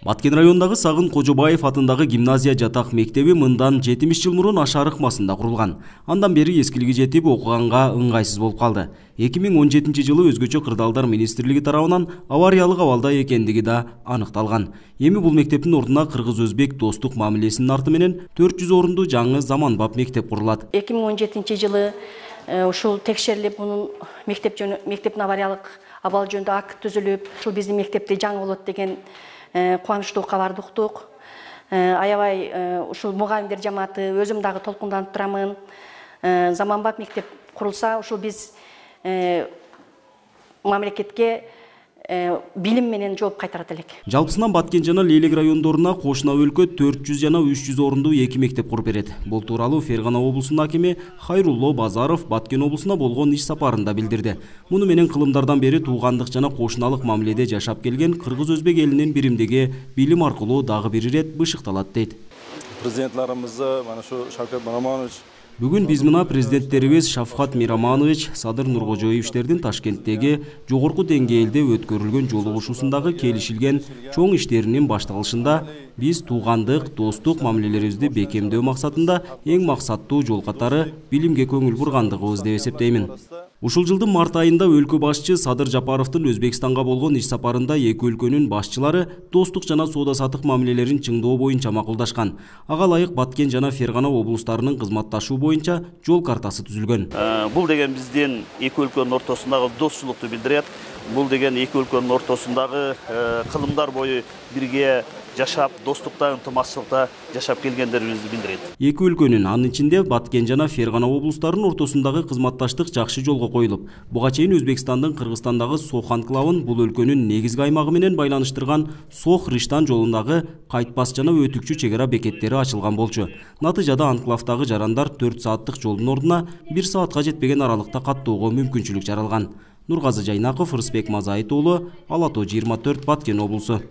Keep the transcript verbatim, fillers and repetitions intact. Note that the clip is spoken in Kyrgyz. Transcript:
Баткен районундагы Сагын Кожобаев атындагы гимназия жатак мектеби мындан жетимиш жыл мурун Ашар ыкмасында курулган. Андан бери эскилиги жетип окуганга ыңгайсыз болуп калды. эки миң он жетинчи жылы өзгөчө кырдаалдар министрлиги тарабынан авариялык абалда экендиги да аныкталган. Эми бул мектептин ордуна кыргыз-өзбек достук мамилесинин арты менен төрт жүз орунду жаңы заманбап мектеп курулат. эки миң он жетинчи жылы ушул текшерилип, мунун мектеп жөнү мектептин авариялык абал жөнүндө акт түзүлүп, ушул биздин мектепте жаңы болот деген кубанычтуу кабарды уктук. Аябай ушул мугалимдер жамааты өзүм дагы толкунданып турамын. Заманбап мектеп курулса, ушул биз мамлекетке билим менен жооп кайтарат элек. Жалпысынан Баткен жана Лейлек райондоруна кошуна өлкө төрт жүз жана үч жүз орунду эки мектеп куруп берет. Бул тууралуу Фергана облусунун акими Хайрулло Базаров Баткен облусуна болгон иш сапарында билдирди. Муну менен кылымдардан бери туугандык жана кошуналык мамиледе жашап келген кыргыз-өзбек элинин биримдиги билим аркылуу дагы бир ирет бышыкталат дейт. Президентларыбызды мана ушу Шавкат Мираманович Бүгүн биз мына президенттерибиз Шавкат Мираманович, Садыр Нуркожоевичтердин Ташкенттеги жогорку деңгээлде өткөрүлгөн жолугушуусундагы келишилген чоң иштеринин башталышында биз туугандык, достук мамилелерибизди бекемдөө максатында эң максаттуу жол катары билимге көңүл бургандыгыбыз деп эсептеймин. Ушул жылдын март айында өлкө башчы Садыр Жапаровдун Өзбекстанга болгон иш сапарында эки өлкөнүн башчылары достук жана соода-саттык мамилелерин чыңдоо боюнча макулдашкан. Ага ылайык Баткен жана Фергана облустарынын кызматташуу боюнча жол картасы түзүлгөн. Бул деген биздин эки өлкөнүн ортосундагы достукту билдирет. Бул деген эки өлкөнүн ортосундагы кылымдар бою бирге жашап, достукта, ынтымактуулукта жашап келгендерибизди билдирет. Эки өлкөнүн, анын ичинде Баткен жана Фергана облустарынын ортосундагы кызматташтык жакшы жолго коюлуп, буга чейин Өзбекстандын Кыргызстандагы Сох анклавын бул өлкөнүн негизги аймагы менен байланыштырган Сох-Риштан жолундагы кайтпас жана өтүкчү чек ара бекеттери ачылган болчу. Натыйжада анклавдагы жарандар төрт сааттык жолдун ордуна бир саатка жетпеген аралыкта каттоого мүмкүнчүлүк жаралган. Нургазы Жайнаков, Рысбек Мазайыт уулу, Ала тоо жыйырма төрт, Баткен облусу.